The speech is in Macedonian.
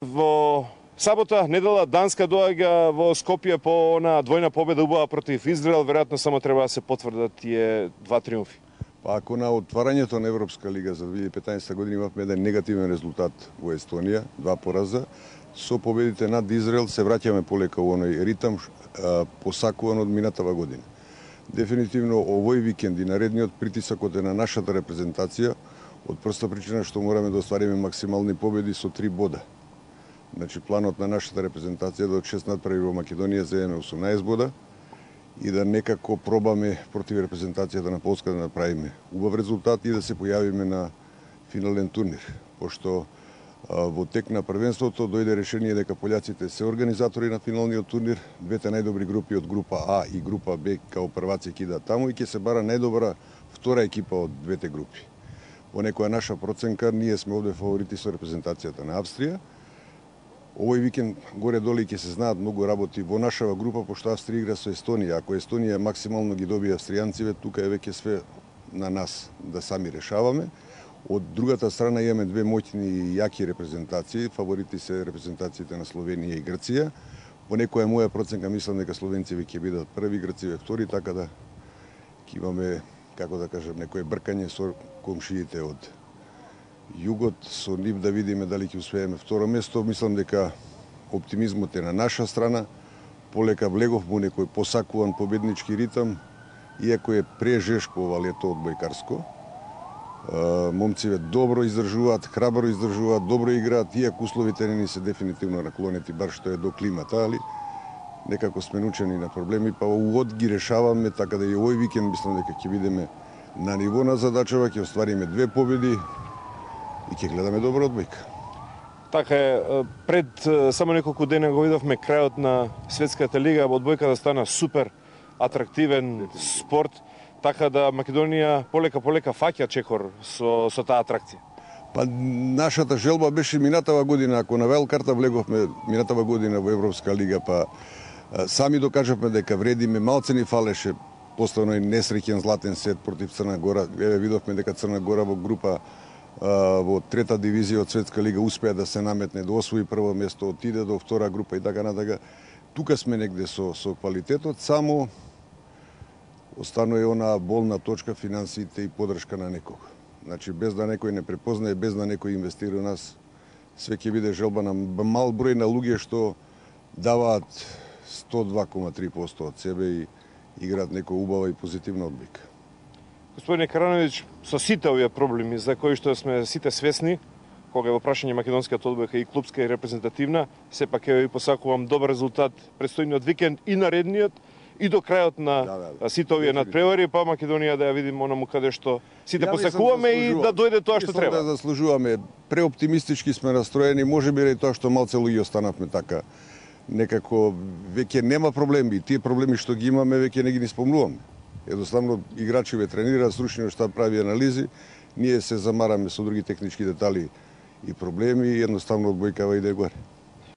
Во сабота, недела, Данска доаѓа во Скопје по она двојна победа убава против Израел, веројатно само треба да се потврдат тие два триумфи. Па ако на отварањето на Европска лига за 2015 година имавме еден негативен резултат во Естонија, 2 пораза, со победите над Израел се враќаме полека во оној ритам посакуван од минатава година. Дефинитивно овој викенд и наредниот притисакот е на нашата репрезентација, од проста причина што мораме да оствариме максимални победи со 3 бода. Значи планот на нашата репрезентација да од 6 надпреви во Македонија земеме 18 бода и да некако пробаме против репрезентацијата на Полска да направиме убав резултат и да се појавиме на финален турнир, пошто во тек на првенството дојде решение дека пољаците се организатори на финалниот турнир, двете најдобри групи од група А и група Б као прваци ќе идат таму и ќе се бара најдобра втора екипа од двете групи. Во некоја наша проценка ние сме овде фаворити со репрезентацијата на Австрија. Овој викенд горе-доле ќе се знаат многу работи во нашава група, пошто Австрија игра со Естонија. Ако Естонија максимално ги добие австријанците, тука е веќе све на нас да сами решаваме. Од другата страна имаме две моќни и јаки репрезентации. Фаворити се репрезентациите на Словенија и Грција. По некоја моја проценка мислам дека словенците ќе бидат први, Грците втори, така да ќе имаме, како да кажам, некое бркање со комшиите од југот, со нив да видиме дали ќе успееме второ место. Мислам дека оптимизмот е на наша страна. Полека влегов во некој посакуван победнички ритам, иако е прежешко ова лето одбојкарско. Момциве добро издржуваат, храбро издржуваат, добро играат, иако условите не ни се дефинитивно наклонети, бар што е до климата, али некако сме научени на проблеми, па угод ги решаваме, така да и овој викенд мислам дека ќе бидеме на ниво на задачава, ќе оствариме 2 победи и ќе гледаме добра одбојка. Така е, пред само неколку дена го видовме крајот на Светската лига, одбојката стана супер атрактивен спорт, така да Македонија полека фаќа чекор со таа атракција. Па нашата желба беше минатава година, ако на велкарта влеговме минатава година во Европска лига, па сами докажавме дека вредиме, малце ни фалеше после оној несреќен златен сет против Црна Гора. Видовме дека Црна Гора во група во трета дивизија од Светска лига успеа да се наметне, да освои прво место, отиде до втора група и така натака. Тука сме негде со квалитетот, само останува онаа болна точка финансиите и подршка на некого. Значи без да некој не препознае, без да некој инвестира у нас, све ќе биде желба на мал број на луѓе што даваат 102,3% од себе и играат некоја убава и позитивна одбојка. Господине Карановиќ, со сите овие проблеми за кои што сме сите свесни, кога е во прашање македонската одбојка и клупска и репрезентативна, сепак ја ви посакувам добар резултат предстојниот викенд и наредниот и до крајот на сите овие надпревари, па Македонија да ја видим онаму каде што сите посакуваме и да дојде тоа што треба. Да заслужуваме, преоптимистички сме настроени, можеби и тоа што малце луѓе останавме така. Некако веќе нема проблеми, тие проблеми што ги имаме веќе не ги спомнуваме. Едноставно играчиве тренираат, стручниот штаб прави анализи, ние се замараме со други технички детали и проблеми и едноставно одбојкава иде горе.